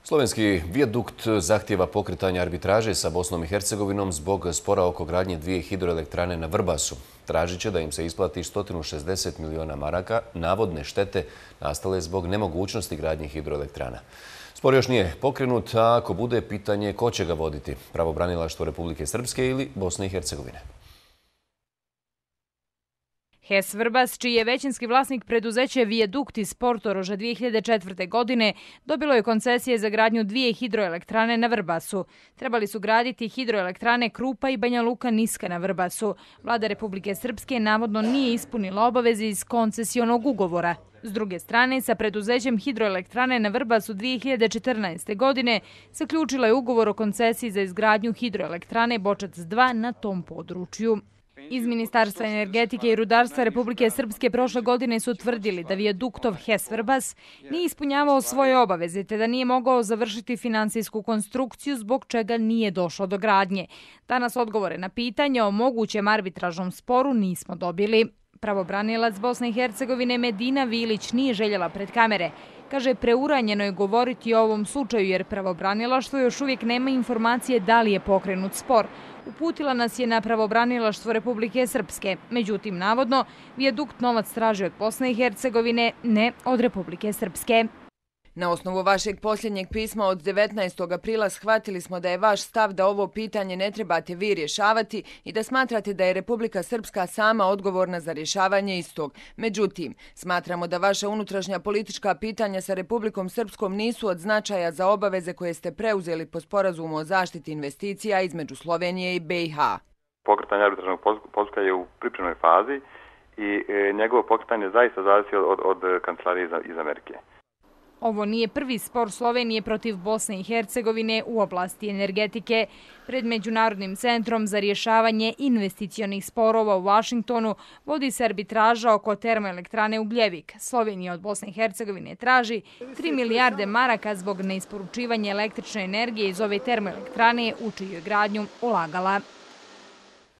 Slovenski vijadukt zahtjeva pokretanje arbitraže sa Bosnom i Hercegovinom zbog spora oko gradnje dvije hidroelektrane na Vrbasu. Tražit će da im se isplati 160 miliona maraka navodne štete nastale zbog nemogućnosti gradnje hidroelektrana. Spor još nije pokrenut, a ako bude, pitanje ko će ga voditi, pravobranilaštvo Republike Srpske ili Bosne i Hercegovine. HES Vrbas, čiji je većinski vlasnik preduzeće Vijadukt iz Portoroža 2004. godine, dobilo je koncesije za gradnju dvije hidroelektrane na Vrbasu. Trebali su graditi hidroelektrane Krupa i Banja Luka Niska na Vrbasu. Vlada Republike Srpske navodno nije ispunila obaveze iz koncesionog ugovora. S druge strane, sa preduzećem hidroelektrane na Vrbasu 2014. godine zaključila je ugovor o koncesiji za izgradnju hidroelektrane Bočac 2 na tom području. Iz Ministarstva energetike i rudarstva Republike Srpske prošle godine su utvrdili da vijaduktov HES Vrbas nije ispunjavao svoje obaveze te da nije mogao završiti finansijsku konstrukciju zbog čega nije došlo do gradnje. Danas odgovore na pitanje o mogućem arbitražnom sporu nismo dobili. Pravobranilac Bosne i Hercegovine Medina Vilić nije željela pred kamere. Kaže, preuranjeno je govoriti o ovom slučaju jer pravobranilaštvo još uvijek nema informacije da li je pokrenut spor. Uputila nas je na pravobranilaštvo Republike Srpske. Međutim, navodno, vijadukt novac traži od Bosne i Hercegovine, ne od Republike Srpske. Na osnovu vašeg posljednjeg pisma od 19. aprila shvatili smo da je vaš stav da ovo pitanje ne trebate vi rješavati i da smatrate da je Republika Srpska sama odgovorna za rješavanje istog. Međutim, smatramo da vaša unutrašnja politička pitanja sa Republikom Srpskom nisu od značaja za obaveze koje ste preuzeli po sporazumu o zaštiti investicija između Slovenije i BiH. Pokretanje arbitražnog postupka je u pripremnoj fazi i njegovo pokretanje zaista zavisi od kancelarije iz Amerike. Ovo nije prvi spor Slovenije protiv Bosne i Hercegovine u oblasti energetike. Pred Međunarodnim centrom za rješavanje investicionih sporova u Vašingtonu vodi se arbitraža oko termoelektrane Ugljevik. Slovenija od Bosne i Hercegovine traži 3 milijarde maraka zbog neisporučivanja električne energije iz ove termoelektrane u čiju je gradnju ulagala.